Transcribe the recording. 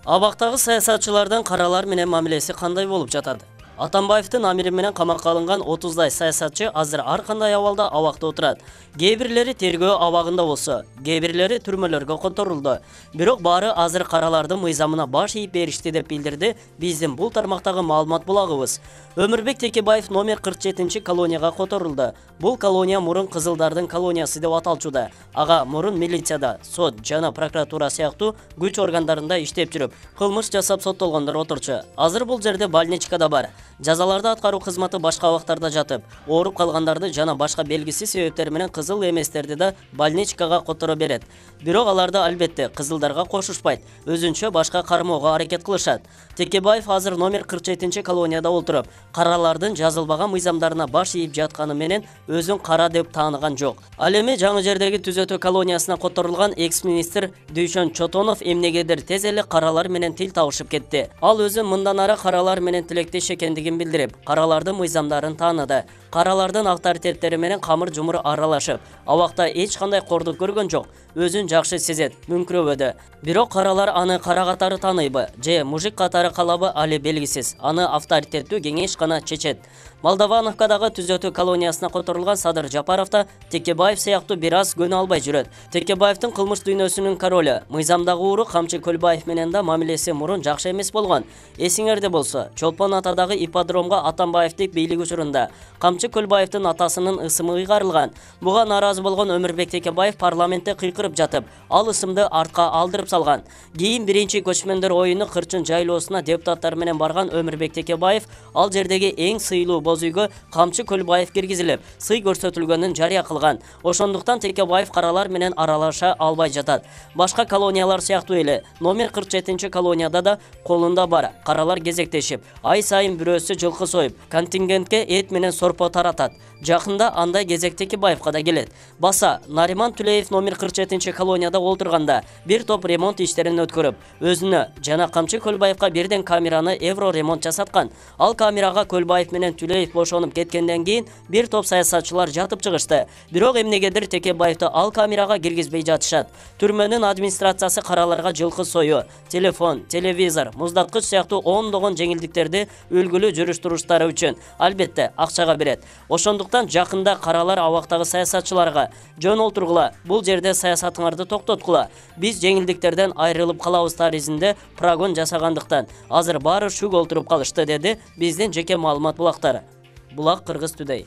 Абактагы саясатчылардын каралар менен мамилеси кандай болуп жатат? Атамбаевдин амири менен камакка алынган 30дай саясатчы азыр ар кандай абалда абакта отурат. Кээ бирлери тергөө абагында болсо, кээ бирлери түрмөлөргө конторулду. Бирок баары азыр каралардын мыйзамына баш ийип беришти деп билдирди биздин бул тармактагы маалымат булагыбыз. Өмүрбек Текебаев номер 47 колонияга которулду. Бул колония мурун кызылдардын колониясы деп аталчуда. Ага мурун милицияда, сот жана прокуратура сыяктуу күч органдарында иштеп жүрүп, кылмыш жасап соттолгондор отурчу. Азыр бул жерде больничкада бар. Жазаларды аткаруу кызматы башка абактарда жатып, ооруп калгандарды жана башка белгисиз себептер менен кызыл эместерди да больничкага которо берет. Бирок аларды албетте кызылдарга кошушпайт, өзүнчө башка кармоого аракет кылышат. Текебаев азыр номер 47 колонияда отуруп, каралардын жазылбаган мыйзамдарына баш ийип жатканы менен өзүн кара деп тааныган жок. Ал эми жаңы жердеги түзөтүү колониясына которулган экс-министр Дүйшөн Чотонов эмнегедир тез эле каралар менен тил табышып кетти. Ал өзү мындан ары каралар менен тилектеш экендигин билдирип, каралардын мыйзамдарын тааныды. Каралардын авторитеттери менен камыр жумур аралашып, абакта эч кандай кордук көргөн жок. Өзүн жакшы сезет, мүңкүрөбөдү. Бирок каралар аны кара катары тааныйбы, же мужик катары калабы али белгисиз. Аны авторитеттүү кеңеш гана чечет. Молдовановкадагы түзөтүү колониясына которулган Садыр Жапаров да Текебаев сыяктуу бир аз көнө албай жүрөт. Текебаевдин кылмыш дүйнөсүнүн королу, мыйзамдагы ууру Камчы Көлбаев менен да мамилеси мурун жакшы эмес болгон. Эсиңерде болсо, Чолпон атадагы ипподромго Атамбаевдик бийлик учурунда Камчы Көлбаевдин атасынын ысымы ыйгарылган. Буга нааразы болгон Өмүрбек Текебаев парламентте кыйкырып жатып, ал ысымды артка алдырып салган. Кийин биринчи көчмөндөр оюну Кырчын жайлоосуна депутаттар менен барган Өмүрбек Текебаев ал жердеги эң сыйлуу боз үйгө Камчы Көлбаев киргизилип, сый көрсөтүлгөнүн жарыя кылган. Ошондуктан Текебаев каралар менен аралаша албай жатат. Башка колониялар сыяктуу эле номер 47 колонияда да колунда бар каралар кезектешип, ай сайын бирөөсү жылкы союп, контингентке эт менен сорпо таратат. Жакында андай кезек Текебаевка да келет. Баса Нариман Түлеев номер 47 колонияда олтурганда бир топ ремонт иштерин өткөрүп, өзүнө жана Камчы Көлбаевка бирден камераны евро ремонт жасаткан. Ал камерага Көлбаев менен Түлеев бошонуп кеткенден кийин бир топ саясатчылар жатып чыгышты. Бирок эмнегедир Текебаевди ал камерага киргизбей жатышат. Түрмөнүн администрациясы караларга жылкы сою, телефон, телевизор, муздаткыч сыяктуу ондогон жеңилдиктерди үлгүлүү жүрүш-туруштары үчүн албетте акчага берет. Ошондуктан жакында каралар абактагы саясатчыларга жөн олтургула, бул жерде саясатыңарды токтоткула. Биз жеңилдиктерден айрылып калабыз таризинде прогон жасагандыктан азыр баары шүк олтуруп калышты, деди биздин жеке маалымат булактары. Булак Кыргыз Today.